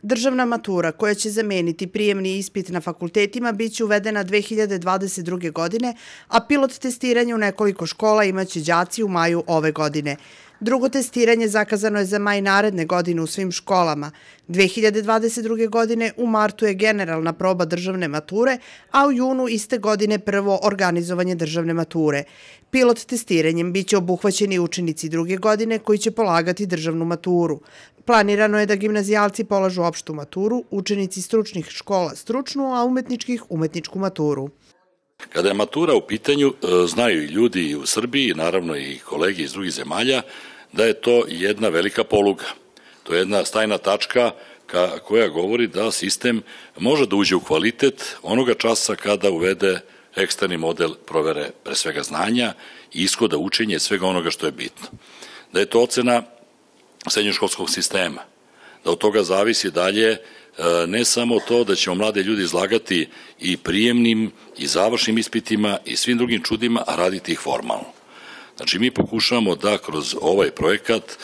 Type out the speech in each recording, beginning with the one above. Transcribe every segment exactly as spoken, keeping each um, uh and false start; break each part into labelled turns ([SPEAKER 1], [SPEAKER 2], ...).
[SPEAKER 1] Državna matura, koja će zameniti prijemni ispit na fakultetima, biće uvedena dve hiljade dvadeset druge. godine, a pilot testiranje u nekoliko škola imaće đaci u maju ove godine. Drugo testiranje zakazano je za maj naredne godine u svim školama. dve hiljade dvadeset druge. godine u martu je generalna proba državne mature, a u junu iste godine prvo organizovanje državne mature. Pilot testiranjem biće obuhvaćeni učenici druge godine koji će polagati državnu maturu. Planirano je da gimnazijalci polažu opštu maturu, učenici stručnih škola stručnu, a umetničkih umetničku maturu.
[SPEAKER 2] Kada je matura u pitanju, znaju i ljudi u Srbiji, naravno i kolegi iz drugih zemalja, da je to jedna velika poluga. To je jedna stajna tačka koja govori da sistem može da uđe u kvalitet onoga časa kada uvede eksterni model provere pre svega znanja i ishoda učenja i svega onoga što je bitno. Da je to ocena srednjoškolskog sistema, da od toga zavisi dalje ne samo to da ćemo mlade ljudi izlagati i prijemnim i završnim ispitima i svim drugim čudima, a raditi ih formalno. Znači, mi pokušavamo da kroz ovaj projekat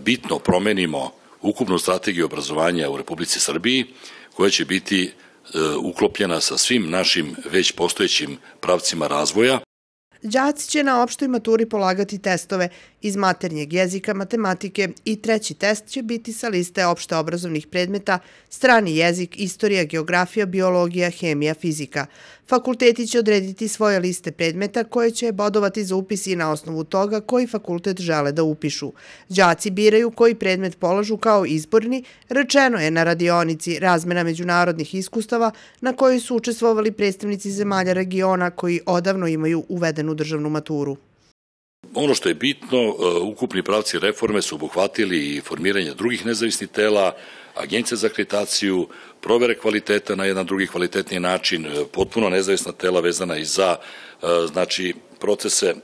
[SPEAKER 2] bitno promenimo ukupnu strategiju obrazovanja u Republici Srbiji, koja će biti uklopljena sa svim našim već postojećim pravcima razvoja.
[SPEAKER 1] Đaci će na opštoj maturi polagati testove iz maternjeg jezika, matematike i treći test će biti sa liste opšte obrazovnih predmeta strani jezik, istorija, geografija, biologija, hemija, fizika. Fakulteti će odrediti svoje liste predmeta koje će bodovati za upis i na osnovu toga koji fakultet žele da upišu. Đaci biraju koji predmet polažu kao izborni, rečeno je na radionici razmena međunarodnih iskustava na kojoj su učestvovali predstavnici zemalja regiona koji odavno imaju uvedenu državnu maturu.
[SPEAKER 2] Ono što je bitno, ukupni pravci reforme su obuhvatili i formiranje drugih nezavisnih tela, agencije za akreditaciju, provere kvaliteta na jedan drugi kvalitetni način, potpuno nezavisna tela vezana i za znači, procese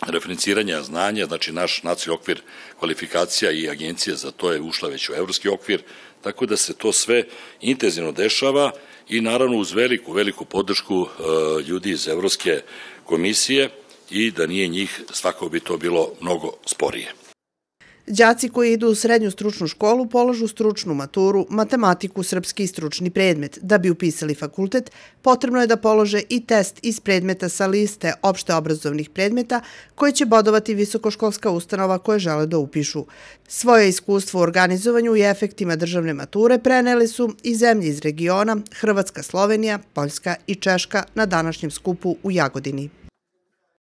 [SPEAKER 2] referenciranja znanja, znači naš nacionalni okvir kvalifikacija i agencija za to je ušla već u evropski okvir, tako da se to sve intenzivno dešava i naravno uz veliku, veliku podršku ljudi iz Evropske komisije i da nije njih, svakako bi to bilo mnogo sporije.
[SPEAKER 1] Đaci koji idu u srednju stručnu školu polažu stručnu maturu, matematiku, srpski i stručni predmet. Da bi upisali fakultet, potrebno je da polože i test iz predmeta sa liste opšte obrazovnih predmeta koje će bodovati visokoškolska ustanova koje žele da upišu. Svoje iskustvo u organizovanju i efektima državne mature preneli su i zemlje iz regiona Hrvatska, Slovenija, Poljska i Češka na današnjem skupu u Jagodini.